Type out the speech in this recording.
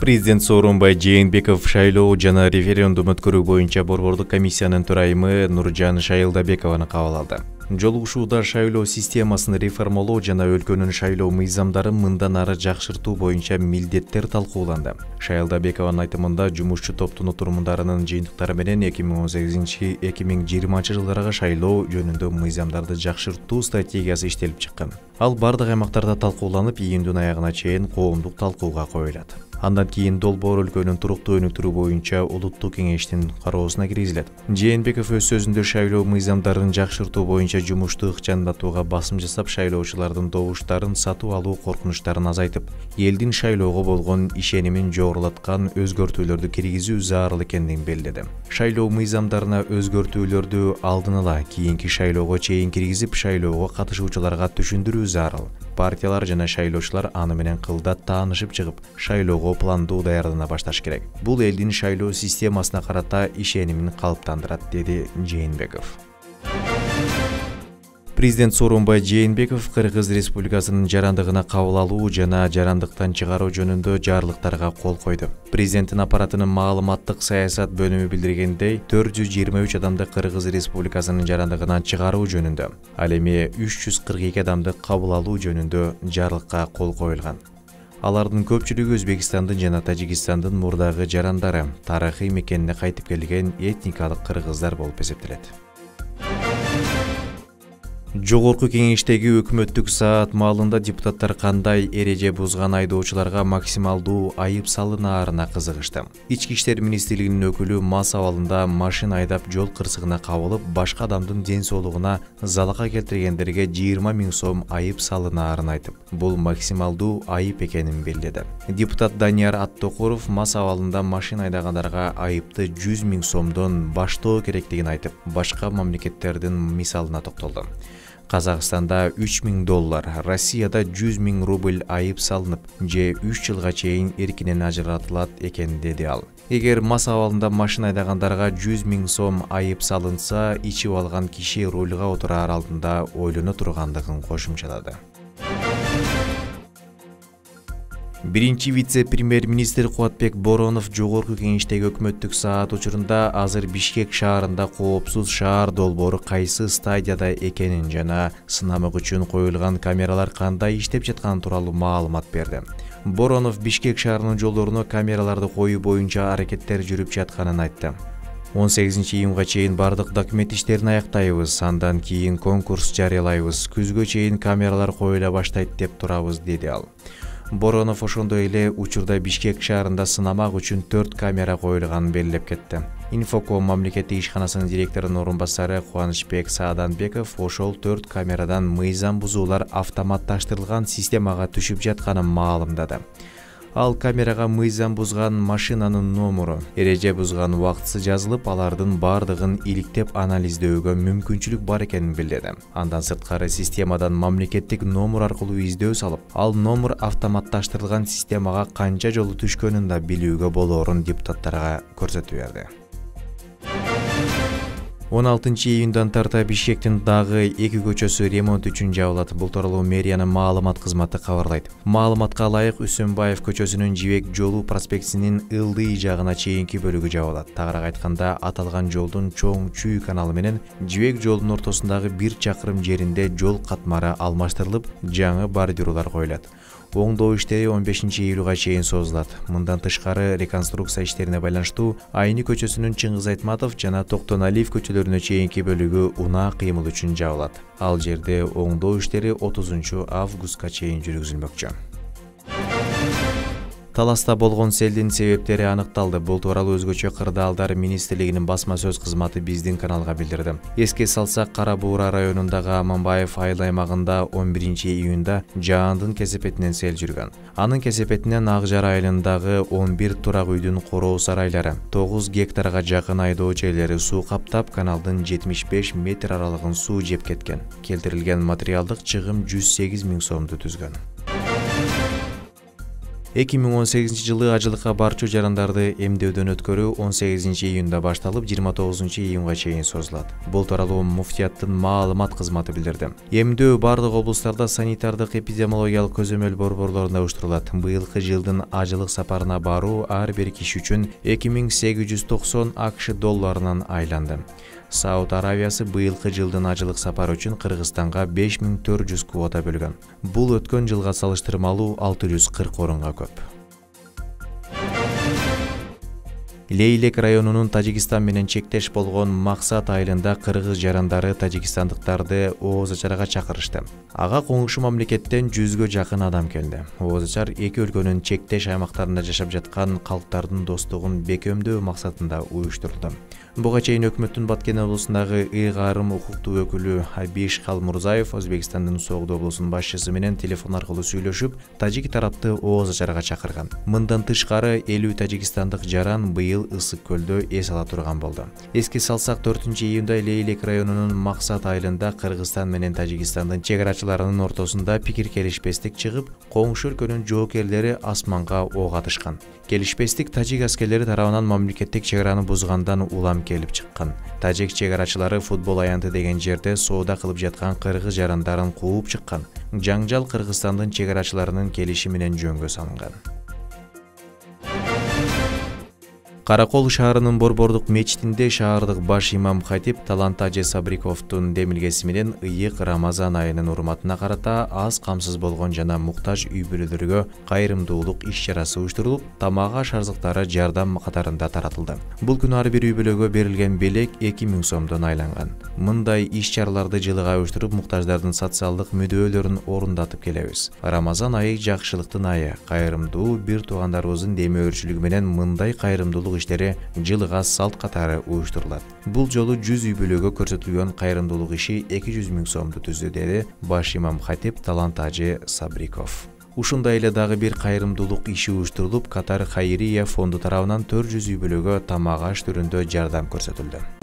Президент Сооронбай Жээнбеков шайлоо жана референдум өткөрүү боюнча борбордук комиссиянын төрайымы Нуржан Шайылдабекованы кабыл алды. Жолугушууда шайлоо системасын реформалоо жана өлкөнүн шайлоо мыйзамдарын мындан ары жакшыртуу боюнча милдеттер талкууланды. Шайылдабекованын айтымында жумушчу топтун отурумдарынын жыйынтыктары менен 2018-2020 жылдарга шайлоо жөнүндө мыйзамдарды жакшыртуу стратегиясы иштелип чыккан. Ал бардык аймактарда талкууланып, июндун аягына чейин коомдук талкууга коюлат. Андан кийин долбоор өлкөнүн туруктуу өнүктүрүү боюнча улуттук кеңештин кароосуна киргизилет. Жээнбеков өз сөзүндө шайлоо мыйзамдарын жакшыртуу боюнча жумушту ыкчамдатууга басым жасап, шайлоочулардын добуштарын сатып алуу коркунучтарын азайтып, элдин шайлоого болгон ишенимин жогорулаткан өзгөртүүлөрдү киргизүү зарыл экендигин белгиледи. Шайлоо мыйзамдарына өзгөртүүлөрдү алдын ала кийинки шайлоого чейин киргизип, шайлоого катышуучуларга түшүндүрүү зарыл. Партиялар жана шайлоочулар аны менен кылдат таанышып чыгып, шайлоого пландуу даярдана башташ керек. Бул элдин шайлоо системасына карата ишенимин калыптандырат, деди Жээнбеков. Президент Сооронбай Жээнбеков Кыргыз Республикасынын жарандыгына кабыл алуу жана жарандыктан чыгаруу жөнүндө жарлыктарга кол койду. Президенттин аппаратынын маалыматтык саясат бөлүмү билдиргендей, 423 адамды Кыргыз Республикасынын жарандыгынан чыгаруу жөнүндө, ал эми 342 адамды кабыл алуу жөнүндө жарлыкка кол коюлган. Алардын көпчүлүгү Өзбекстандын жана Тажикстандын мурдагы жарандары, тарыхый мекенине кайтып келген этникалык кыргыздар болуп эсептелет. Жогорку кеңештеги өкмөттүк саат маалында депутаттар кандай эреже бузган айдоочуларга максималдуу айып салынаарына кызыгышты. Ички иштер министрлигинин өкүлү мас абалында машина айдап жол кырсыгына кабылып, башка адамдын ден соолугуна залака келтиргендерге 20 000 сом айып салынаарын айтып, бул максималдуу айып экенин белгиледи. Депутат Данияр Аттокуров мас абалында машина айдагандарга айыпты 100 000 сомдон баштоо керектигин айтып, башка мамлекеттердин мисалына токтолду. Казакстанда $3000, Россияда 100 000 рубль айып салынып, же 3 жылга чейин эркинен ажыратылат экен, деди ал. Эгер мас абалында машина айдагандарга 100 000 сом айып салынса, ичип алган киши рулга отураар алдында ойлоно тургандыгын кошумчалады. Биринчи вице-премьер-министр Кубатбек Боронов жогорку кеңештеги өкмөттүк саат учурунда азыр Бишкек шаарында коопсуз шаар долбоору кайсы стадияда экенин жана сынамык үчүн коюлган камералар кандай иштеп жатканы тууралуу маалымат берди. Боронов Бишкек шаарынын жолдоруна камераларды коюу боюнча аракеттер жүрүп жатканын айтты. 18 июнга чейин бардык документ иштерин аяктайбыз, андан кийин конкурс жарыялайбыз, күзгө чейин камералар коюла баштайт деп турабыз, деди ал. Боронов ошондой эле учурда Бишкек шаарында сынамак үчүн 4 камера коюлганын белгилеп кетти. Инфоком мамлекеттик ишканасынын директорунун орун басары Кубанычбек Сааданбеков ошол 4 камерадан мыйзам бузуулар автоматташтырылган системага түшүп жатканын маалымдады. Ал камерага мыйзам бузган машинанын номуру, эреже бузган убактысы жазылып, алардын бардыгын иликтеп анализдөөгө мүмкүнчүлүк бар экенин билдирди. Андан сырткары системадан мамлекеттик номур аркылуу издөө салып, ал номур автоматташтырылган системага канча жолу түшкөнүн да билүүгө болоорун депутаттарга көрсөтүп берди. 16 июндан тарта Бишкектин дагы 2 көчөсү ремонт үчүн жабылат. Бул тууралуу мэриянын маалымат кызматы кабарлайт. Маалыматка ылайык, Үсөнбаев көчөсүнүн Жибек жолу проспектисинин ылдый жагына чейинки бөлүгү жабылат. Тагыраак айтканда, аталган жолдун чоң Чүй каналы менен Жибек жолунун ортосундагы 1 чакырым жеринде жол катмары алмаштырылып, жаңы бордюрлар коюлат. Оңдоо иштери 15 июлга чейин созулат. Мындан тышкары реконструкция иштерине байланыштуу Айны көчөсүнүн Чыңгыз Айтматов жана Токтоналиев көчөлөрүнө чейинки бөлүгү унаа кыймыл үчүн жабылат. Ал жерде оңдоо иштери 30 августка чейин жүргүзүлмөкчү. Таласта болгон селдин себептери аныкталды. Бул тууралуу Өзгөчө кырдаалдар министрлигинин басма сөз кызматы биздин каналга билдирди. Эске салсак, Кара Буура районундагы Аманбаев айыл аймагында 11 июнда жаандын кесепетинен сел жүргөн. Анын кесепетинен Ак Жар айылындагы 11 турак үйдүн короо сарайлары, 9 гектарга жакын айдоо жерлери суу каптап, каналдын 75 метр аралыгын суу жеп кеткен. Келтирилген материалдык чыгым 108 000 сомду түзгөн. 2018-жылы ажылыкка барчу жарандарды эмдөөдөн өткөрүү 18-июнда башталып 29-июнга чейин созулат. Бул тууралуу муфтияттын маалымат кызматы билдирди. Эмдөө бардык облустарда санитардык эпидемиологиялык көзөмөл борборлорунда уюштурулат. Быйылкы жылдын ажылык сапарына баруу ар бир киши үчүн 2890 АКШ долларынан айланды. Сауд Аравиясы быйылкы жылдын ажылык сапары үчүн Кыргызстанга 5400 квота бөлгөн. Бул өткөн жылга салыштырмалуу 640 орунга көп. Лейлек районунун Тажикстан менен чектеш болгон Максат айылында кыргыз жарандары тажикстандыктарды ооз ачарга чакырышты. Ага коңшу мамлекеттен 100гө жакын адам келди. Ооз ачар эки өлкөнүн чектеш аймактарында жашап жаткан калктардын достугун бекемдөө максатында уюштурулду. Буга чейин өкмөттүн Баткен облусундагы ыйгарым укуктуу өкүлү Абиш Калмурзаев Өзбекстандын Согду облусунун башчысы менен телефон аркылуу сүйлөшүп, тажик тарапты ооз ачарга чакырган. Мындан тышкары 50 тажикстандык жаран быйыл ысык көлдө эс ала турган болду. Эске салсак, 4-июнда Лейлек районунун Максат айылында Кыргызстан менен Тажикстандын чек арачыларынын ортосунда пикир келишпестик чыгып, коңшу өлкөнүн жоокерлери асманга ок атышкан. Келишпестик тажик аскерлери тарабынан мамлекеттик чек араны бузгандан улам келип чыккан. Тажик чек арачылары футбол аянты деген жерде соода кылып жаткан кыргыз жарандарын кууп чыккан. Жаңжал Кыргызстандын чек арачыларынын келиши менен жөнгө салынган. Каракол шаарынын Борбордук мечитинде шаардык баш имам хатип Талант Ажы Сабриковдун демилгеси менен ыйык Рамазан айынын урматына карата аз камсыз болгон жана муктаж үй бүлөлөргө кайрымдуулук иш-чарасы уюштурулуп, тамак аш арзыктары жардам катарында таратылды. Бул күнү ар бир үй бүлөгө берилген белек 2000 сомдон айланган. Мындай иш-чараларды жылыга уюштуруп, муктаждардын социалдык мүддөөлөрүн орундатып келебиз. Рамазан айы жакшылыктын айы. Кайрымдуу бир туугандарыбыздын демөөрчүлүгү менен мындай кайрымдуулук иштери жылыга салт катары уюштурулат. Бул жолу 100 үй бүлөгө көрсөтүлгөн кайрымдуулук иши 200 000 сомду түздү, деди баш имам хатип Талант Ажы Сабриков. Ушундай эле дагы бир кайрымдуулук иши уюштурулуп, Катар Хайрия фонду тарабынан 400 үй бүлөгө тамак аш түрүндө жардам көрсөтүлдү.